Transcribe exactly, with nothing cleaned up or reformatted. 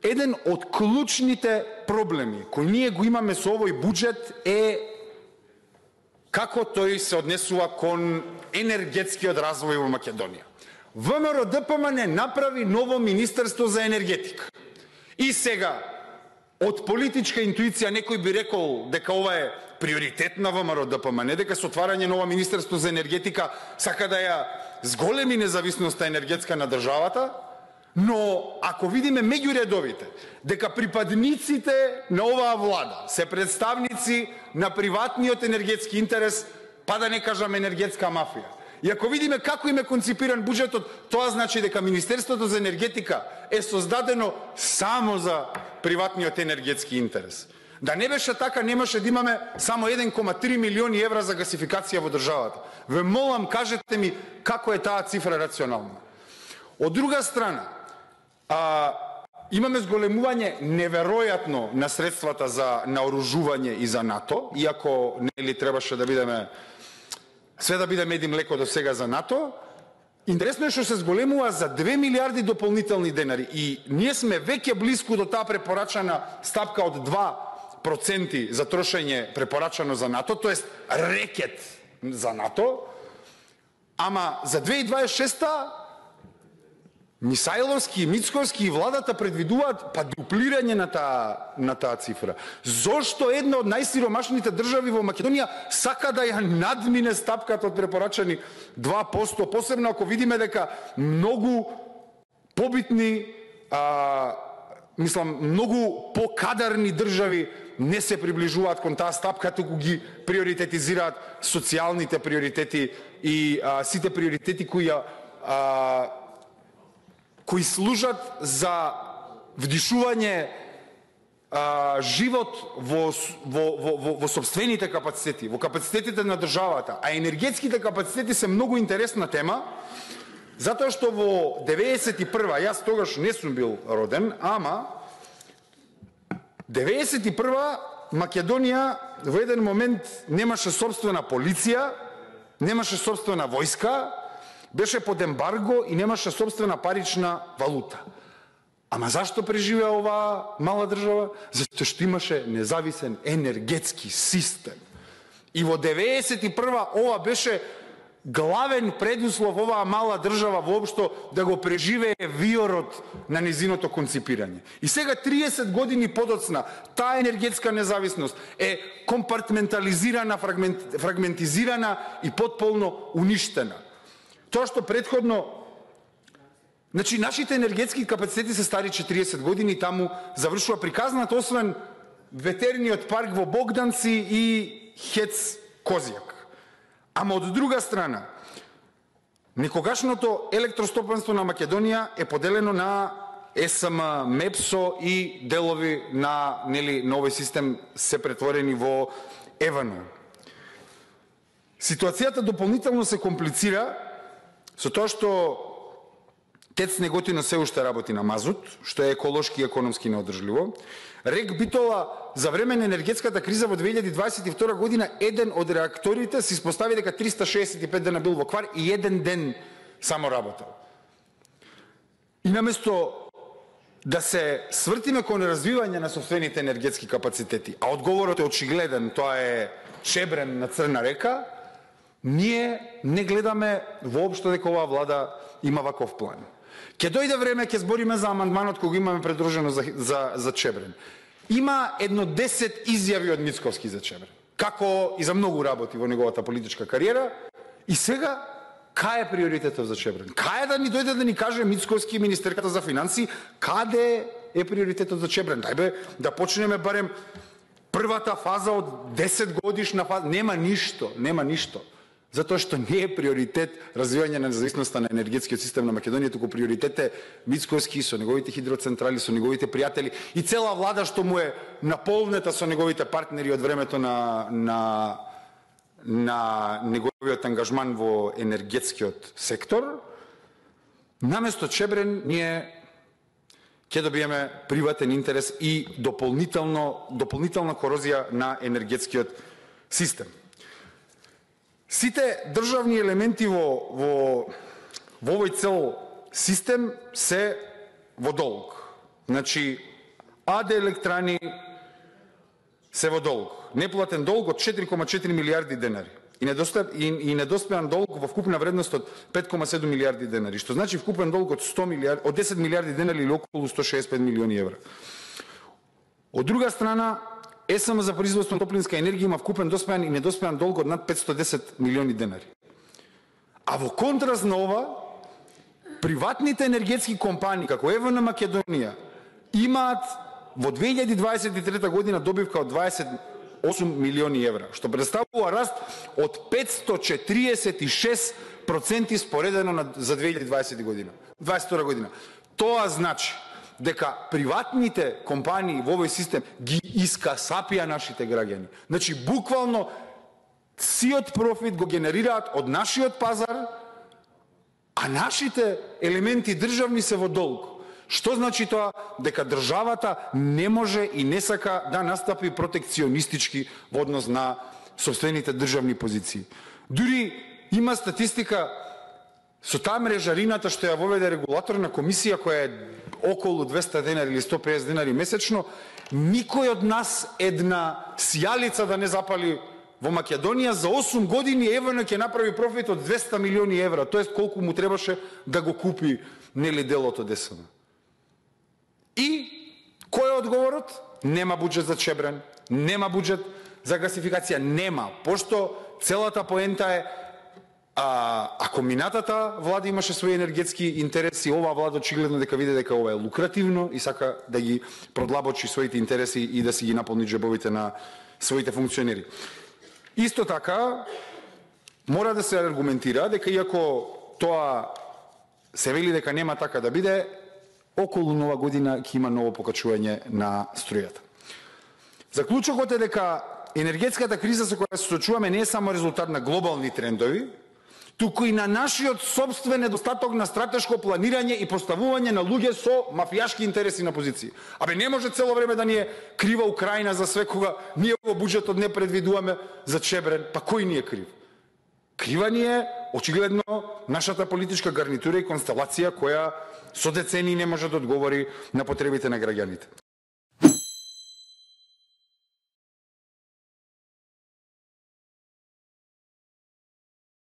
еден од клучните проблеми кои ние го имаме со овој буџет е како тој се однесува кон енергетскиот развој во Македонија. ВМРО-ДПМН направи ново Министерство за енергетика. И сега, од политичка интуиција некој би рекол дека ова е приоритет на ВМРО-ДПМН, дека со отварање нова Министерство за енергетика сака да ја зголеми независноста енергетска на државата, но ако видиме меѓу редовите дека припадниците на оваа влада се представници на приватниот енергетски интерес, па да не кажам енергетска мафија, и ако видиме како им е конципиран буџетот, тоа значи дека Министерството за енергетика е создадено само за приватниот енергетски интерес. Да не беше така, немаше да имаме само еден кома три милиони евра за гасификација во државата. Ве молам, кажете ми како е таа цифра рационална. Од друга страна, а, имаме зголемување неверојатно на средствата за наоружување и за НАТО, иако нели требаше да бидеме све да биде мед и млеко до сега за НАТО. Интересно е што се зголемува за две милиарди дополнителни денари и ние сме веќе близко до таа препорачана стапка од два проценти за трошење препорачано за НАТО, тоест рекет за НАТО, ама за две илјади дваесет и шеста Мисајловски, Мицковски и владата предвидуваат па дуплирање на таа на таа цифра. Зошто една од најсиромашните држави во Македонија сака да ја надмине стапката од препорачани два проценти, посебно ако видиме дека многу побитни, а, мислам, многу покадарни држави не се приближуваат кон таа стапка, туку ги приоритетизираат социјалните приоритети и а, сите приоритети кои а, кои служат за вдишување а, живот во, во, во, во, во собствените капацитети, во капацитетите на државата. А енергетските капацитети се многу интересна тема, затоа што во деветдесет и прва, јас тогаш не сум бил роден, ама деветдесет и прва Македонија во еден момент немаше собствена полиција, немаше собствена војска, беше под ембарго и немаше собствена парична валута. Ама зашто преживеа оваа мала држава? Затоа што имаше независен енергетски систем. И во деветдесет и прва ова беше главен предуслов оваа мала држава воопшто да го преживее виорот на незиното конципирање. И сега триесет години подоцна таа енергетска независност е компартментализирана, фрагмент, фрагментизирана и потполно уништена. Тоа што предходно, значи нашите енергетски капацитети се стари четириесет години и таму завршува приказната, освен ветерниот парк во Богданци и ХЕЦ Козјак. Ама од друга страна, некогашното електростопанство на Македонија е поделено на ЕСМ, МЕПСО и делови на нели новој систем се претворени во ЕВН. Ситуацијата дополнително се комплицира со тоа што ТЕЦ Неготино се уште работи на мазут, што е еколошки и економски неодржливо. РЕК Битола за време на енергетската криза во две илјади дваесет и втора година еден од реакторите се испостави дека триста шеесет и пет дена бил во квар и еден ден само работел. И наместо да се свртиме кон развивање на собствените енергетски капацитети, а одговорот е очигледен, тоа е Чебрен на Црна река, ние не гледаме воопшто дека оваа влада има ваков план. Ке дојде време, ке збориме за амандманот кој го имаме предружено за, за, за Чебрен. Има едно десет изјави од Мицковски за Чебрен, како и за многу работи во неговата политичка кариера. И сега, кај е приоритетот за Чебрен? Кај да ни дојде да ни каже Мицковски и Министерката за финансии, каде е приоритетот за Чебрен? Дајбе да почнеме барем првата фаза од десет годишна фаза. Нема ништо, нема ништо. Затоа што не е приоритет развивање на независноста на енергетскиот систем на Македонија, туку приоритет е Мицковски со неговите хидроцентрали, со неговите пријатели и цела влада што му е наполнета со неговите партнери од времето на, на, на неговиот ангажман во енергетскиот сектор. Наместо Чебрен ние ќе добиеме приватен интерес и дополнително, дополнителна корозија на енергетскиот систем. Сите државни елементи во, во, во овој цел систем се во долг. Значи, АД Електрани се во долг. Неплатен долг од четири кома четири милијарди денари. И, недостап, и, и недоспеан долг во вкупна вредност од пет кома седум милијарди денари, што значи вкупен долг од сто милијарди, од десет милијарди денари или околу сто шеесет и пет милиони евра. Од друга страна, ЕСМ за производство на топлинска енергија има вкупен доспеан и недоспеан долг од над петстотини и десет милиони денари. А во контраст на ова, приватните енергетски компании, како ЕВН Македонија, имаат во две илјади дваесет и трета година добивка од дваесет и осум милиони евра, што представува раст од петстотини и четириесет и шест проценти споредено на, за две илјади дваесета година. дваесет и втора година. Тоа значи дека приватните компании во овој систем ги искасапија нашите граѓани. Значи, буквално, сиот профит го генерираат од нашиот пазар, а нашите елементи државни се во долг. Што значи тоа? Дека државата не може и не сака да настапи протекционистички во однос на сопствените државни позиции. Дури има статистика со таа мрежарината што ја воведе регулаторна комисија која е околу двесте денари или сто песет денари месечно, никој од нас една сијалица да не запали во Македонија. За осум години ЕВН ќе направи профит од двесте милиони евра, тоест колку му требаше да го купи нели делото ДСМ. И кој е одговорот? Нема буџет за Чебрен, нема буџет за гасификација, нема, пошто целата поента е А, ако минатата влада имаше своји енергетски интереси, оваа влада очигледно дека види дека ова е лукративно и сака да ги продлабочи своите интереси и да си ги наполни џебовите на своите функционери. Исто така, мора да се аргументира дека иако тоа се вели дека нема така да биде, околу нова година ќе има ново покачување на струјата. Заклучокот е дека енергетската криза со која се соочуваме не е само резултат на глобални трендови, туку и на нашиот собствен недостаток на стратешко планирање и поставување на луѓе со мафијашки интереси на позиции. Абе, не може цело време да ни е крива Украина за све, кога ние во буџетот не предвидуваме за Чебрен. Па кој ни е крив? Крива ни е, очигледно, нашата политичка гарнитура и констелација која со децении не може да одговори на потребите на граѓаните.